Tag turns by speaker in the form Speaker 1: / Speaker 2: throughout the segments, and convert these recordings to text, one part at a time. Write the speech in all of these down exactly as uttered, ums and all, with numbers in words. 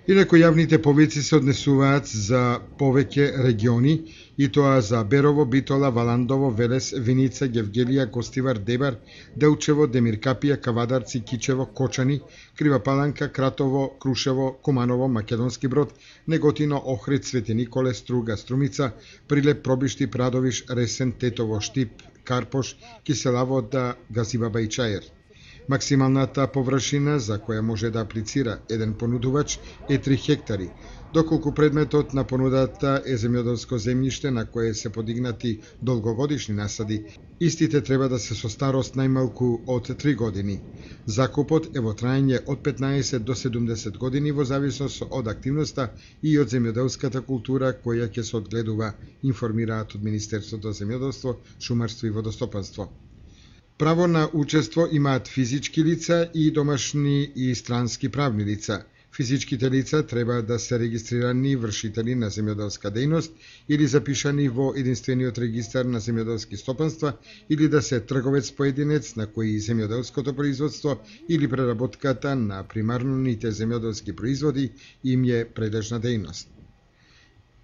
Speaker 1: Инаку јавните повици се однесуваат за повеќе региони, и тоа за Берово, Битола, Валандово, Велес, Виница, Гевгелија, Гостивар, Дебар, Делчево, Демиркапија, Кавадарци, Кичево, Кочани, Крива Паланка, Кратово, Крушево, Куманово, Македонски Брод, Неготино, Охрид, Свети Николе, Струга, Струмица, Прилеп, Пробишти, Прадовиш, Ресен, Тетово, Штип, Карпош, Киселавода, Газибаба и Чаер. Максималната површина за која може да аплицира еден понудувач е три хектари, доколку предметот на понудата е земјоделско земјиште на кое се подигнати долгогодишни насади. Истите треба да се со старост најмалку од три години. Закупот е во траење од петнаесет до седумдесет години во зависност од активноста и од земјоделската култура која ќе се одгледува, информираат од Министерството за земјоделство, шумарство и водостопанство. Право на учество имаат физички лица и домашни и странски правни лица. Физичките лица треба да се регистрирани вршители на земјоделска дејност или запишани во единствениот регистар на земјоделски стопанства или да се трговец поединец на кој земјоделското производство или преработката на примарните земјоделски производи им е прилежна дејност.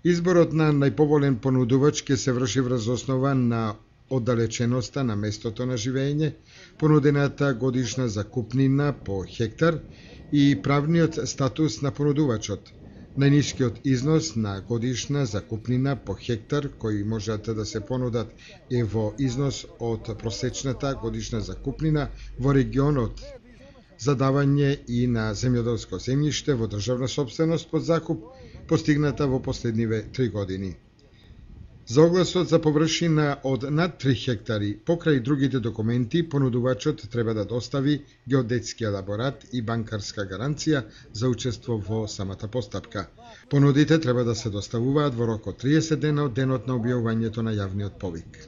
Speaker 1: Изборот на најповолен понудувач ќе се врши врз основа на оддалеченоста на местото на живење, понудената годишна закупнина по хектар и правниот статус на понудувачот. Најнискиот износ на годишна закупнина по хектар кои можат да се понудат е во износ од просечната годишна закупнина во регионот за давање и на земјоделско земјиште во државна сопственост под закуп, постигната во последниве три години. За огласот за површина од над три хектари, покрај другите документи, понудувачот треба да достави геодетски елаборат и банкарска гаранција за учество во самата постапка. Понудите треба да се доставуваат во рок од триесет дена од денот на објавувањето на јавниот повик.